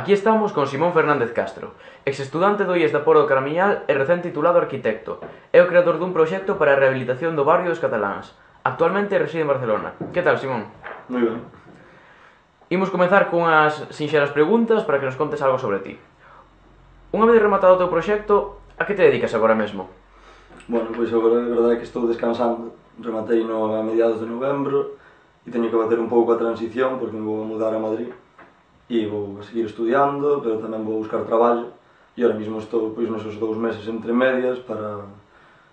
Aquí estamos con Simón Fernández Castro, ex-estudante do IES da Pór do Caramiñal e recén titulado arquitecto. É o creador dun proxecto para a rehabilitación do barrio dos cataláns. Actualmente reside en Barcelona. Que tal, Simón? Moi ben. Imos comezar cunhas sinxelas preguntas para que nos contes algo sobre ti. Unha vez rematado o teu proxecto, a que te dedicas agora mesmo? Bueno, pois agora a verdade é que estou descansando. Rematei no a mediados de novembro e teño que bater un pouco a transición porque me vou a mudar a Madrid e vou a seguir estudiando, pero tamén vou buscar traballo e ahora mesmo estou pois nesos 2 meses entre medias para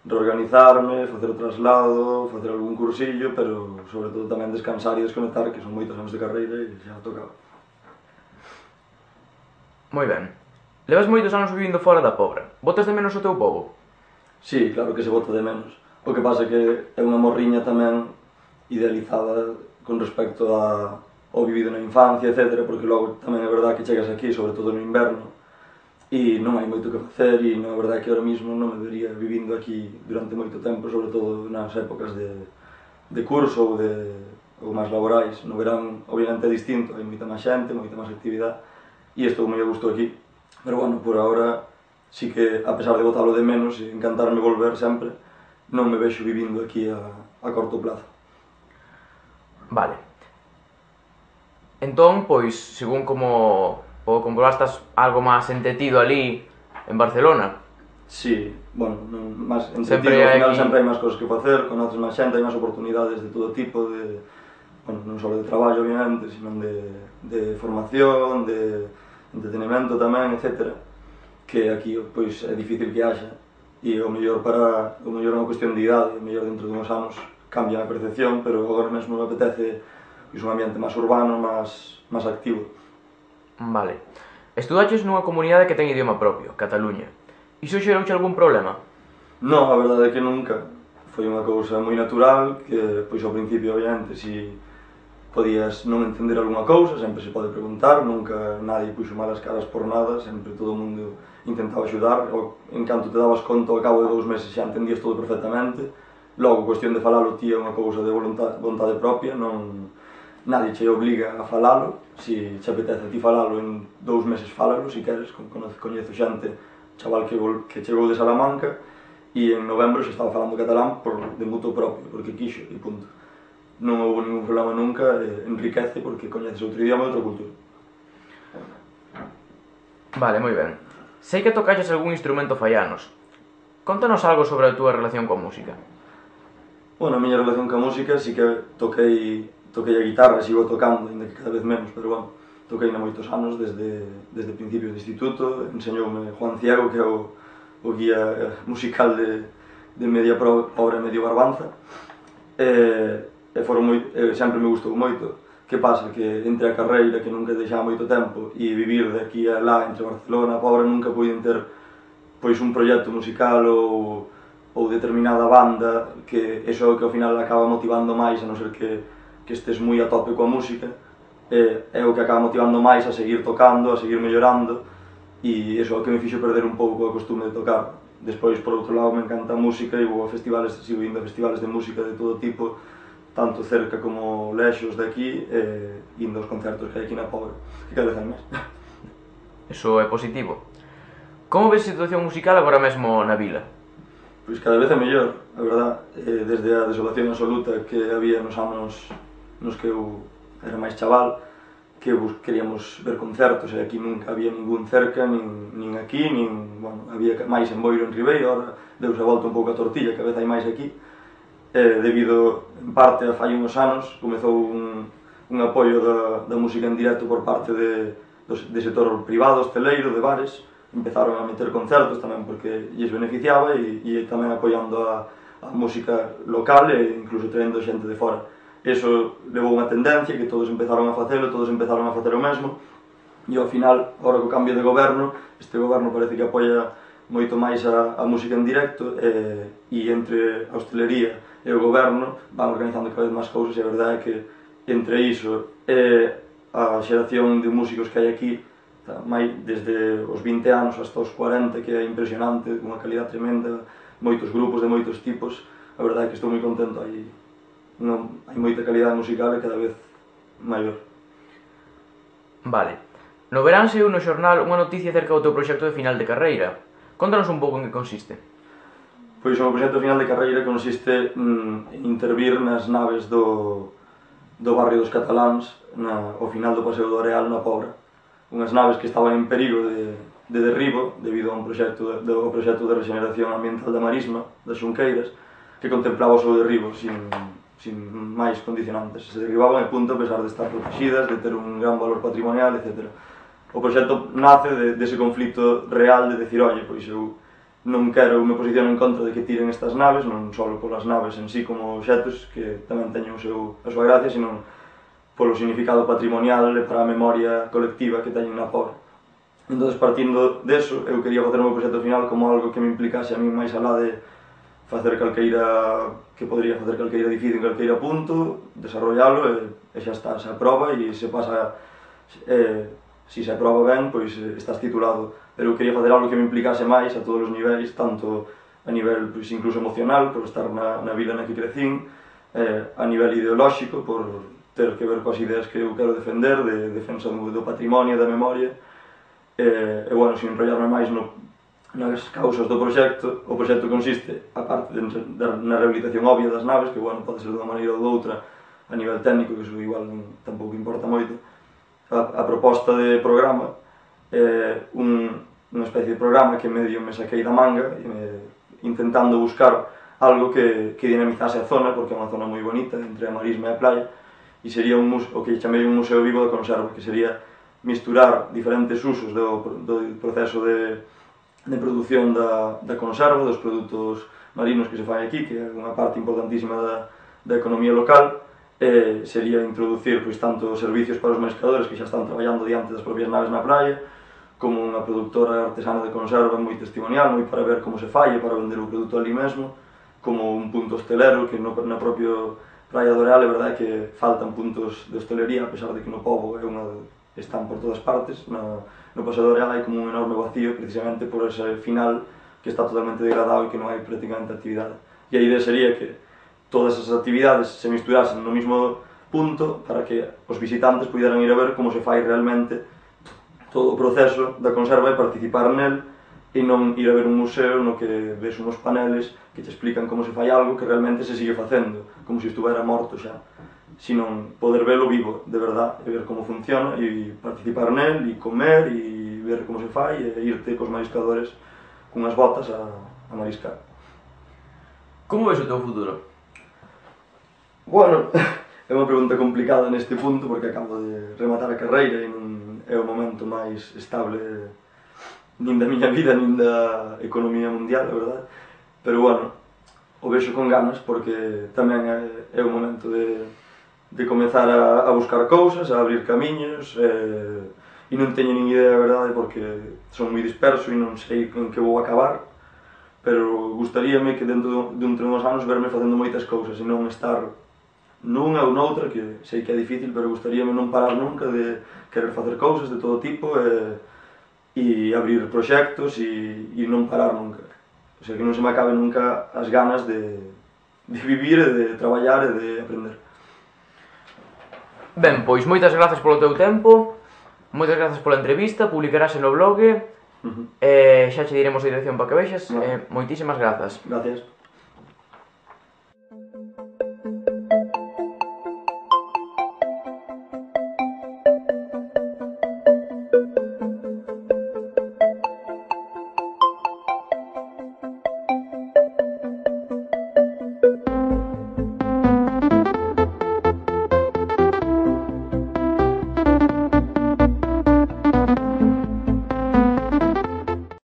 reorganizarme, facer o traslado, facer algún cursillo, pero sobre todo tamén descansar e desconectar, que son moitos anos de carreira e xa tocaba. Moi ben. Levas moitos anos vivindo fora da Pobra. Botas de menos o teu pobo? Sí, claro que se bota de menos. O que pasa é que é unha morriña tamén idealizada con respecto ao vivido na infancia, etc. Porque logo tamén é verdade que chegas aquí, sobre todo no inverno, e non hai moito que facer e non é verdade que ahora mesmo non me vería vivindo aquí durante moito tempo, sobre todo nas épocas de curso ou máis laborais. No verán, obviamente, é distinto, hai moita máis xente, moita máis actividade e estou moi a gusto aquí. Pero, bueno, por agora, sí que, a pesar de botalo de menos e encantarme volver sempre, non me vexo vivindo aquí a corto plazo. Vale. Entón, pois, según como o comprobastas algo máis entetido ali en Barcelona. Sí, bueno, máis Sempre entretenido, ao final hai- sempre hai máis cosas que facer, conoces máis xente, hai máis oportunidades de todo tipo, bueno, non só de traballo, obviamente, sino de formación, de entretenimento tamén, etc. Que aquí, pois, é difícil que haxa, e o mellor é unha cuestión de idade, o mellor dentro de uns anos cambia a percepción, pero agora mesmo me apetece pois, un ambiente máis urbano, máis activo. Vale. Estudaches nunha comunidade que ten idioma propio, Cataluña. Iso xerouche algún problema? Non, a verdade é que nunca. Foi unha cousa moi natural, que, pois, ao principio, obviamente, si podías non entender algunha cousa, sempre se pode preguntar, nunca nadie puxo malas caras por nada, sempre todo o mundo intentaba axudar, en canto te dabas conta, ao cabo de 2 meses xa entendías todo perfectamente. Logo, cuestión de falalo ti é unha cousa de vontade propia, non nadie che obliga a falalo, si che apetece a ti falalo en 2 meses falalo, si queres, coñezo xente, chaval que chegou de Salamanca e en novembro xa estaba falando catalán de mutuo propio, porque quixo e punto. Non houve ningún problema nunca, enriquece porque coñeces outro idioma e outra cultura. Vale, moi ben. Sei que tocaches algún instrumento faianos. Contanos algo sobre a túa relación coa música. Bueno, a miña relación coa música sí que toquei a guitarra, sigo tocando, ainda que cada vez menos, pero bueno, toquei na moitos anos, desde principios de instituto, enseñoume Juan Ciego, que é o guía musical de Media Pobra e Medio Barbanza, e sempre me gustou moito. Que pasa? Que entre a carreira, que nunca deixaba moito tempo, e vivir de aquí a lá, entre Barcelona e Pobra, nunca puiden ter pois un proxecto musical ou determinada banda, que eso é o que ao final acaba motivando máis, a non ser que estés moi a tope coa música, é o que acaba motivando máis a seguir tocando, a seguir mellorando, e eso é o que me fixo perder un pouco a costume de tocar. Despois, por outro lado, me encanta a música e vou a festivales, sigo indo a festivales de música de todo tipo, tanto cerca como lexos de aquí, indo aos concertos que hai aquí na Pobra, que cada vez hai máis. Eso é positivo. Como ves a situación musical agora mesmo na vila? Pois cada vez é mellor, a verdad, desde a desolación absoluta que había nos anos nos que eu era máis chaval, que queríamos ver concertos e aquí nunca había ningún cerca, nin aquí, bueno, había máis en Boiro, en Ribeiro, ahora deuse a volta un pouco a tortilla, que a vez hai máis aquí, debido, en parte, a fai uns anos, comezou un apoio da música en directo por parte de sector privado, hosteleiro, de bares, empezaron a meter concertos tamén porque lles beneficiaba e tamén apoiando a música local e incluso traendo xente de fora. Eso levou unha tendencia que todos empezaron a facelo, todos empezaron a facer o mesmo e ao final, agora co cambio de goberno, este goberno parece que apoia moito máis a música en directo e entre a hostelería e o goberno van organizando cada vez máis cousas e a verdade é que entre iso e a xeración de músicos que hai aquí, desde os 20 anos hasta os 40, que é impresionante, unha calidad tremenda, moitos grupos de moitos tipos, a verdade é que estou moi contento, hai moita calidade musical e cada vez maior. Vale. No verán saiu no xornal unha noticia acerca do teu proxecto de final de carreira. Contanos un pouco en que consiste. Pois o meu proxecto final de carreira consiste en intervir nas naves do barrio dos cataláns ao final do Paseo do Areal na Pobra. Unhas naves que estaban en perigo de derribo debido a un proxecto de regeneración ambiental da Marisma, das Xunqueiras, que contemplaba o seu derribo sin máis condicionantes. Se derribaban a punto a pesar de estar protegidas, de ter un gran valor patrimonial, etc. O proxecto nace dese conflito real de decir, oye, pois eu non quero me posiciono en contra de que tiren estas naves, non só polas naves en sí como obxetos, que tamén teñen a súa gracia, sino polo significado patrimonial e para a memoria colectiva que teñen na Pobra. Entón, partindo deso, eu quería facer o meu proxecto final como algo que me implicase a mí máis alá de facer que podría facer calqueira edificio en calqueira punto, desarrollalo e xa está, se aproba e se pasa, se se aproba ben, pois estás titulado. Pero eu quería facer algo que me implicase máis a todos os niveis, tanto a nivel pois, incluso emocional, por estar na vida na que crecín, a nivel ideolóxico, por ter que ver coas ideas que eu quero defender, de defensa do patrimonio, da memoria, e, bueno, sin enrollarme máis nas causas do proxecto, o proxecto consiste, a parte na rehabilitación obvia das naves, que, bueno, pode ser dunha maneira ou doutra, a nivel técnico, que iso igual tampouco importa moito, a proposta de programa é unha especie de programa que medio me saquei da manga, intentando buscar algo que dinamizase a zona, porque é unha zona moi bonita, entre a Marisma e a playa, e sería o que chamei un museo vivo da conserva, que sería misturar diferentes usos do proceso de produción da conserva, dos produtos marinos que se fai aquí, que é unha parte importantísima da economía local, sería introducir pois, tanto servicios para os mariscadores que xa están traballando diante das propias naves na praia, como unha productora artesana de conserva moi testimonial, moi para ver como se fai e para vender o produto ali mesmo, como un punto hostelero que na propia Praia do Areal é verdade que faltan puntos de hostelería, a pesar de que no pobo están por todas partes. No Paseo do Areal hai como un enorme vacío precisamente por ese final que está totalmente degradado e que non hai prácticamente actividade. E a idea sería que todas esas actividades se misturasen no mismo punto para que os visitantes puderan ir a ver como se fai realmente todo o proceso da conserva e participar nel, e non ir a ver un museo no que ves uns paneles que te explican como se fai algo que realmente se sigue facendo, como se estuvera morto xa, sino poder velo vivo, de verdad, e ver como funciona, e participar nel, e comer, e ver como se fai, e irte cos mariscadores cunhas botas a mariscar. Como ves o teu futuro? Bueno, é unha pregunta complicada neste punto, porque acabo de rematar a carreira e non é o momento máis estable nin da miña vida, nin da economía mundial, a verdade. Pero, bueno, o vexo con ganas, porque tamén é o momento de comezar a buscar cousas, a abrir camiños, e non teño nin idea, a verdade, porque son moi disperso e non sei en que vou acabar, pero gustaríame que dentro de uns anos verme facendo moitas cousas e non estar nunha ou noutra, que sei que é difícil, pero gustaríame non parar nunca de querer facer cousas de todo tipo e abrir proxectos e non parar nunca. O sea, que non se me acabe nunca as ganas de vivir e de traballar e de aprender. Ben, pois moitas grazas polo teu tempo, moitas grazas pola entrevista, publicarase no blog, xa che diremos a dirección para que vexas, moitísimas grazas. Gracias.